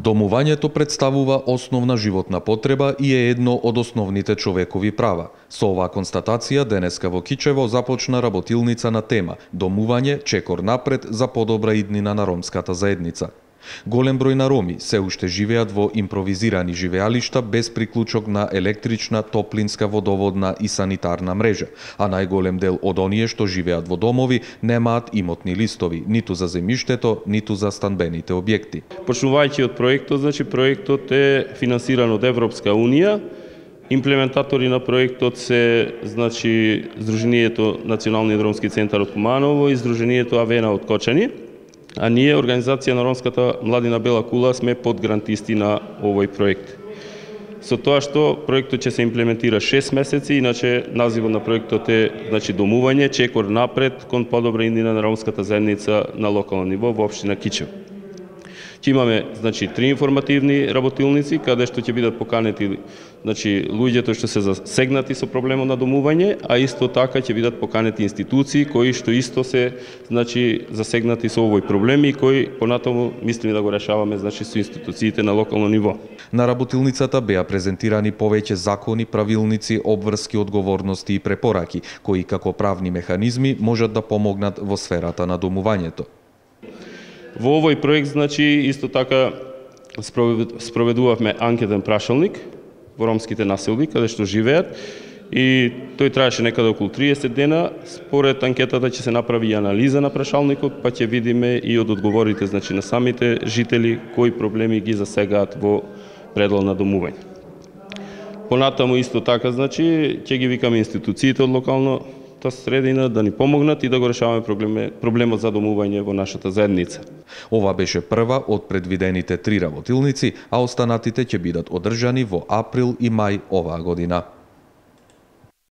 Домувањето представува основна животна потреба и е едно од основните човекови права. Со оваа констатација денеска во Кичево започна работилница на тема Домување, чекор напред за подобра иднина на ромската заедница. Голем број на роми се уште живеат во импровизирани живеалишта без приклучок на електрична, топлинска, водоводна и санитарна мрежа, а најголем дел од оние што живеат во домови немаат имотни листови, ниту за земјиштето, ниту за станбените објекти. Почнувајќи од проектот, проектот е финансиран од Европска унија. Имплементатори на проектот се Сдруженијето Националниот ромски центар од Куманово и Сдруженијето Авена од Кочани. А ние, Организација на ромската младина Бела кула, сме подгрантисти на овој проект. Со тоа што проектот ќе се имплементира 6 месеци, иначе називот на проектот е Домување, чекор напред кон подобра иднина на ромската заедница на локално ниво во општина Кичево. Ќе имаме 3 информативни работилници каде што ќе бидат поканети луѓето што се засегнати со проблемот на домување, а исто така ќе бидат поканети институции кои што исто се засегнати со овој проблем и кои понатаму мислиме да го решаваме со институциите на локално ниво. На работилницата беа презентирани повеќе закони, правилници, обврски, одговорности и препораки кои како правни механизми можат да помогнат во сферата на домувањето. Во овој проект, исто така спроведувавме анкетен прашалник во ромските населби, каде што живеат, и тој траеше некаде околу 30 дена. Според анкетата ќе се направи и анализа на прашалникот, па ќе видиме и од одговорите на самите жители кои проблеми ги засегаат во предлог на домување. Понатаму исто така, ќе ги викаме институциите од локално средина да ни помогнат и да го решаваме проблемот за домување во нашата заедница. Ова беше прва од предвидените 3 работилници, а останатите ќе бидат одржани во април и мај оваа година.